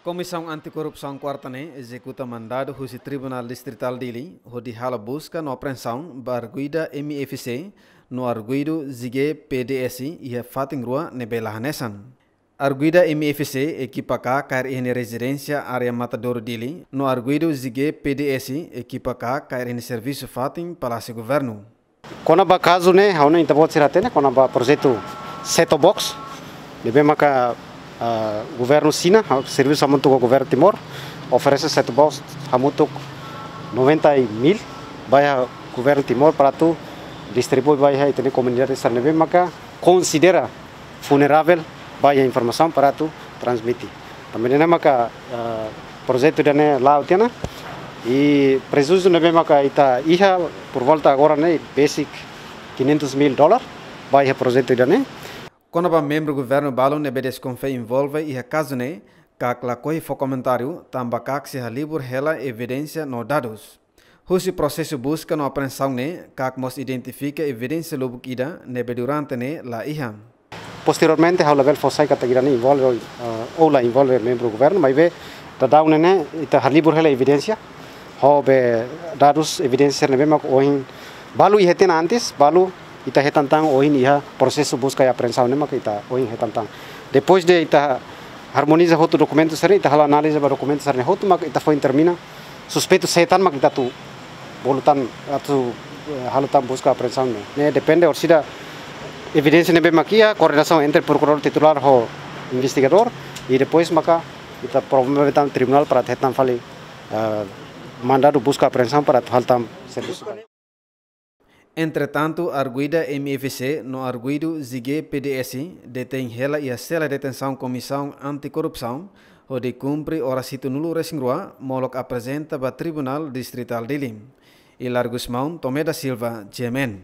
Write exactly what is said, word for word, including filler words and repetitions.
Komisaun Anti-Korrupsaun kuarta ne'e ezekuta mandadu husi Tribunál Distritál Dili hodi halo buska no apreensaun ba arguida M I F C no arguidu Zige P D S iha fatin rua ne'ebé la hanesan. Arguida M I F C ekipa ka kaer iha nia rezidénsia área Matadouro Dili, no arguidu Zige P D S ekipa ka kaer iha nia servisu fatin Palásiu Governu. Kona-ba kazu ne'e, ha'u hanoin ita-boot sira hatene, kona-ba projetu set-top box ne'ebé maka, ah, governu Xina, ha'u servisu hamutuk ho governu Timor, oferese set-top box hamutuk noventa mil ba iha governu Timor para atu distribui ba iha ita-nia komunidade sira ne'ebé maka konsidera vulneravel ba iha informasaun para atu transmite. Tanba ne'e maka, ah, projetu ida-ne'e la'o tiha ona, i prejuízu ne'ebé maka ita iha por volta agora ne'e besik quinhentos mil dólar ba iha projetu ida-ne'e. Kona-ba membru governu balu ne'ebé deskonfia envolve iha kazu ne'e, KAK lakohi fó komentáriu, tanba KAK sei halibur hela evidénsia no dadus. Husi prosesu buska no apreensaun ne'e, KAK mós identifika evidénsia lubuk ida ne'ebé durante ne'e la iha. Posteriormente, ha'u labele fó sai katak ida-ne'e envolve, ah, ou la envolve membru governu, maibé daudaun ne'e ne'e ita halibur hela evidénsia, ho be dadus, evidénsia ne'ebé mak ohin balu iha tiha ona antes, balu ita hetan tan ohin iha prosesu buska i apreensaun ne'e mak ita ohin hetan tan. Depois de ita harmoniza hotu dokumentu sira-ne'e, ita halo análize ba dokumentu sira-ne'e hotu mak ita foin determina suspeitu sé tan mak ita atu bolu tan atu, eh, halo tan buska apreensaun ne'e. Ne'e depende orsida evidénsia ne'ebé mak iha, koordenasaun entre prokuradór titulár ho investigadór, i depois maka ita promove tan tribunál para hetan fali, eh, mandadu buska apreensaun para atu halo tan servisu. Entretantu, arguida M I F C no arguidu Zige P D S detein hela iha sela detensaun Komisaun Anti-Korrupsaun, hodi kumpre oras hitunulu-resin-rua, molok aprezenta ba Tribunál Distritál Dili. Hilario Gusmão, Tomé da Silva, G M N.